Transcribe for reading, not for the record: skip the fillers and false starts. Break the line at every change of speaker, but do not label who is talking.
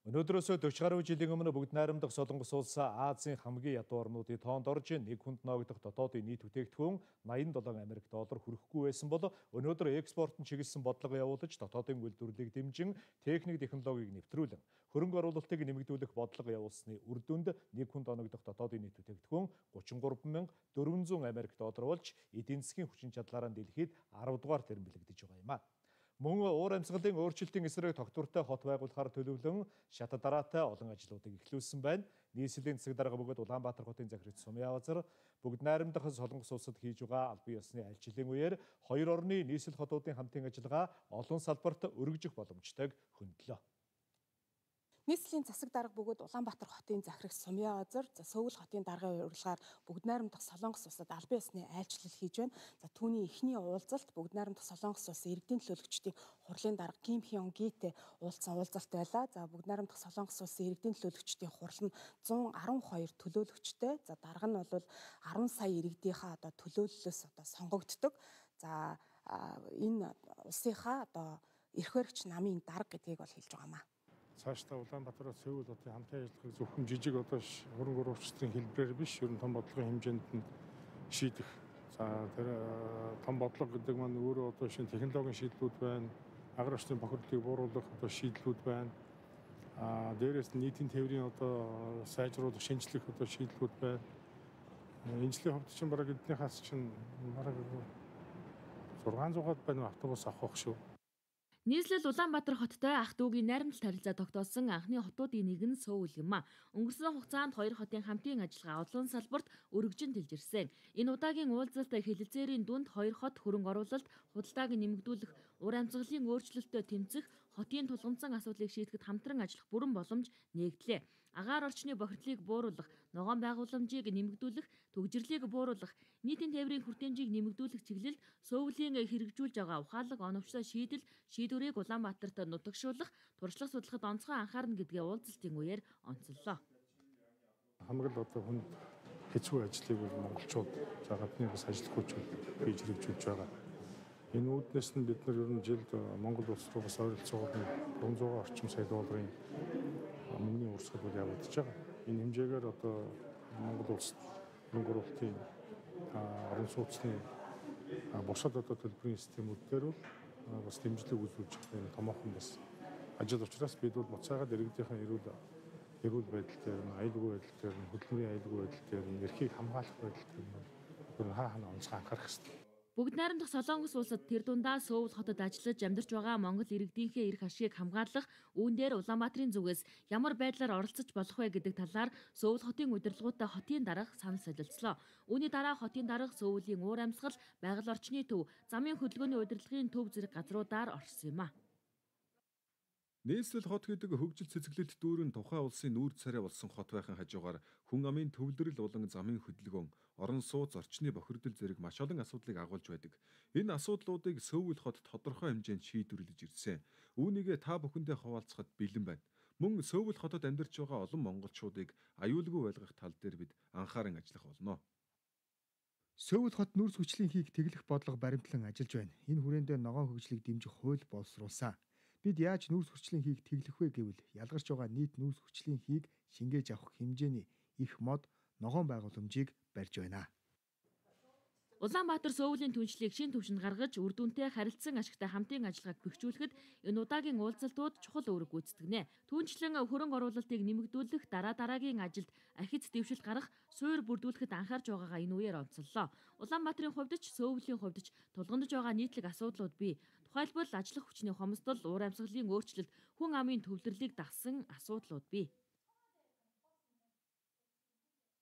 Өнөөдрөөсөө 40 гаруй жилийн өмнө бүгд найрамдах Солонгос улс Азийн хамгийн ядуу орнуудын тоонд орж нэг хүнд ноогдох дотоодын нийт бүтээгдэхүүн 87 Америк доллар хүрэхгүй байсан бол өнөөдөр экспортын чиглэсэн бодлого явуулж дотоодын үйлдвэрлэлийг дэмжин техник технологиг нэвтрүүлэн хөрөнгө оруулалтыг нэмэгдүүлэх бодлого явуулсны үр дүнд нэг хүнд оногдох дотоодын нийт бүтээгдэхүүн 33,400 Америк доллар болж эдийн засгийн хүчин чадлаараа дэлхийд 10 дугаар тэрбэлэгдэж байгаа юм а. Мөн уур амьсгалын өөрчлөлтийн эсрэг тогтвортой хот байгуулахаар төлөвлөн шат дараатай олон ажлуудыг эхлүүлсэн байна. Нийслэлийн засаг дарга бөгөөд Улаанбаатар хотын захирагч Сумья Авазар бүгд найрамдах Солонгос улсад хийж байгаа албан ёсны альчлалын үеэр хоёр орны нийслэл хотуудын хамтын ажиллагаа олон салбарт өргөжих боломжтойг хөндлөө.
Нийслэлийн засаг дарга бөгөөд Улаанбаатар хотын захирагч Сумья Авазар Сөүл хотын даргын урилгаар бүгд найрамдах Солонгос улсад албан ёсны айлчлал хийж байна. Түүний эхний уулзалт бүгд найрамдах Солонгос улсын иргэдийн төлөөлөгчдийн хурлын дарга Ким Хён Гитэй уулзсан уулзалт байлаа. Бүгд найрамдах Солонгос улсын иргэдийн төлөөлөгчдийн хурал нь 112 төлөөлөгчтэй. Дарга нь бол 10 сая иргэдийнхаа төлөөллөөс сонгогддог. Энэ улсынхаа эрх баригч намын дарга гэдгийг бол хэлж байгаамаа.
Цаашдаа Улаанбаатараас Сөүл хотын хамтын ажиллагааг зөвхөн жижиг хөрөнгө оруулагчдын хэлбэрээр биш, ер нь том бодлогын хэмжээнд нь шийдэх. Тэр том бодлого гэдэг маань өөрөө шинэ технологийн шийдлүүд байна. Агаар орчны бохирдлыг бууруулах шийдлүүд байна. Дээрээс нь нийтийн тээврийн сайжруулах, шинжлэх шийдлүүд байна. Энэ жилийн хувьд чинь бараг эднийхээс чинь бараг 600-аад байна автобус авах шүү.
Нийслэл Улаанбаатар хоттой ах дүүгийн найрамдалт харилцаа тогтоосон анхны хотуудын нэг нь Сөүл юм а. Өнгөрсөн хугацаанд хоёр хотын хамтын ажиллагаа олон салбарт өргөжин дэлжирсэн. Энэ удаагийн уулзалт хэлэлцээрийн дүнд хоёр хот хөрөнгө оруулалт, худалдааг нэмэгдүүлэх, ур амьсгалын өөрчлөлтөд тэмцэх, хотын тулгамдсан асуудлыг шийдэхэд хамтран ажиллах бүрэн боломж нээгдлээ. Агаар орчны бохирдлыг бууруулах, ногоон байгууламжийг нэмэгдүүлэх, төгжрлийг бууруулах, нийтийн тээврийн хүртээмжийг нэмэгдүүлэх чиглэлд Сөүлийн хэрэгжүүлж байгаа ухаалаг оновчтой шийдвэрийг Улаанбаатарт нутагшуулах, туршлага судлахад онцгой анхаарна гэдгээ уулзалтын үеэр онцоллоо.
Хамгийн хүнд хэцүү ажлыг монголчууд гадны бас ажиллах хүчүүд хийж хэрэгжүүлж байгаа. Энэ үүднээс нь бид нар ер нь жилд Монгол улс руу бас ойролцоогоор 300 орчим сая долларын мөнгөний урсгал явагдаж байгаа. Энэ хэмжээгээр Монгол улс хөрөнгө оруулалтын орон сууцны бусад төлбөрийн системүүд дээр бас дэмжлэг үзүүлж байгаа томоохон бас ажил учраас бид бол буцаагаад иргэдийнхэн эрүүл байдал дээр, аюулгүй байдал дээр, хөдөлмөрийн аюулгүй байдал дээр, эрхийг хамгаалах байдал дээр хаана онцгой анхаарах хэрэгтэй.
Бүгд найрамдах Солонгос улсад тэр дундаа Сөүл хотод ажиллаж амьдарч байгаа Монгол иргэдийнхээ эрх ашигыг хамгаалах, үүн дээр Улаанбаатарын зүгээс ямар байдлаар оролцож болох вэ гэдэг талаар Сөүл хотын удирдлагуудтай хотын дарга санал солилцлоо. Үүний дараа хотын дарга Сөүлийн уур амьсгал, байгаль орчны төв, замын хөдөлгөөний удирдлагын төв зэрэг газруудаар орсон юм а.
Нийслэл хот гэдэг хөгжил цэцэглэлт дүүрэн тухайн улсын нүүр царай болсон хот байхын хажуугаар хүн амын төвлөрөл болон замын хөдөлгөөн, орон сууц, орчны бохирдол зэрэг маш олон асуудлыг агуулж байдаг. Энэ асуудлуудыг Сөүл хот тодорхой хэмжээнд шийдвэрлэж ирсэн. Үүнийгээ та бүхэндээ хуваалцахад бэлэн байна. Мөн Сөүл хотод амьдарч байгаа олон монголчуудыг аюулгүй байлгах тал дээр бид анхааран ажиллах болно.
Сөүл хот нүүрс хүчлийн хийг тэглэх бодлого баримтлан ажиллаж байна. Энэ хүрээндээ ногоон хөгжлийг дэмжих хууль боловсруулсан. Бид яаж нүүрс хүчлийн хийг тэглэх вэ гэвэл ялгарч байгаа нийт нүүрс хүчлийн хийг шингээж авах хэмжээний их мод ногоон байгууламжийг барьж байна.
Улаанбаатар Сөүлийн түншлийг шин түвшинд гаргаж, үр дүнтэй харилцан ашигтай хамтын ажиллагааг бэхжүүлэхэд энэ удаагийн уулзалтууд чухал үүрэг гүйцэтгэнэ. Түүнчлэн хөрөнгө оруулалтыг нэмэгдүүлэх, дараагийн ажилд ахиц дэвшилт гарах, суур бүрдүүлэхэд анхаарч байгаагаа энэ үеэр онцоллоо. Улаанбаатарын хувьд ч Сөүлийн хувьд ч тулгамдж байгаа нийтлэг асуудлууд бий. Тухайлбал ажлах хүчний хомсдол, уур амьсгалын өөрчлөлт, хүн амын төвлөрлийг дагсан асуудлууд бий.